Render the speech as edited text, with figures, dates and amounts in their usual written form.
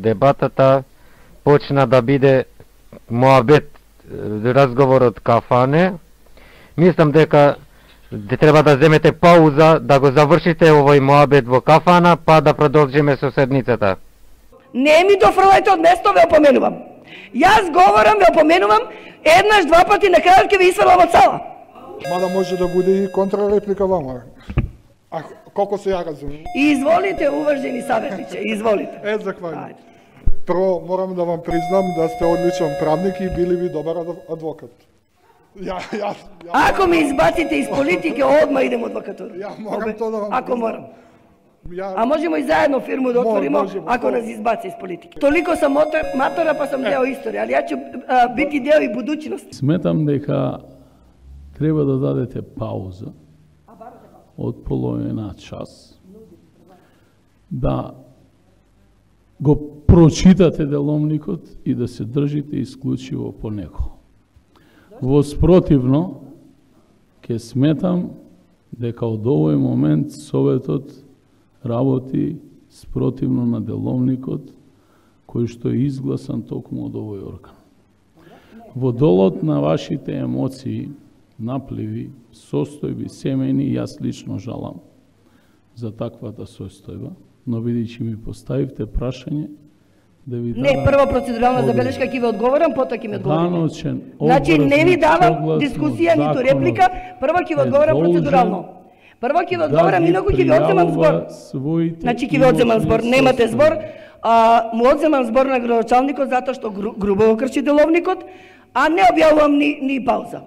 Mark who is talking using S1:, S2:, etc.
S1: Дебатата почна да биде моабет, разговорот кафане. Мислам дека треба да земете пауза, да го завршите овој моабет во кафана, па да продолжиме со седницата.
S2: Не ми дофрлајте од место, ве опоменувам. Јас говорам, ве опоменувам, еднаш, два пати, на крајот ќе ве исфрлам од сала.
S3: Мада може да биде и контрареплика вама. А колку се ја разумем?
S2: Изволите, уважени саветниче, изволите.
S3: Захвалјувам. Прво, морам да вам признам да сте одличен правник и били ви добар адвокат.
S2: Ако ме избаците из политика, одма идем адвокатура.
S3: Ја морам тоа да вам
S2: Ако морам. А можемо и заедно фирму да отворимо, ако нас избаци из политика. Толико сам матора, па сам дел историја, али ја ќе бити дел и будуćност.
S4: Сметам дека треба да дадете пауза од половина час, да го прочитате деловникот и да се држите исклучиво по него. Во спротивно, ќе сметам дека од овој момент Советот работи спротивно на деловникот кој што е изгласан токму од овој орган. Во долот на вашите емоции, напливи, состојби, семејни, јас лично жалам за таквата состојба, но бидејќи ми поставивте прашање, да ви дадам...
S2: Не, прво процедурална забелешка ќе ви одговорам, потоа ќе ми одговорите. Значи не ви давам дискусија, ниту реплика, прво ќе ви одговорам процедурално. Прво ќе ви одговорам, инаку ќе ви одземам збор. Значи ќе ви одземам збор, немате збор, му одземам збор на градоначалникот затоа што грубо го крши деловникот, а не објавувам ни пауза.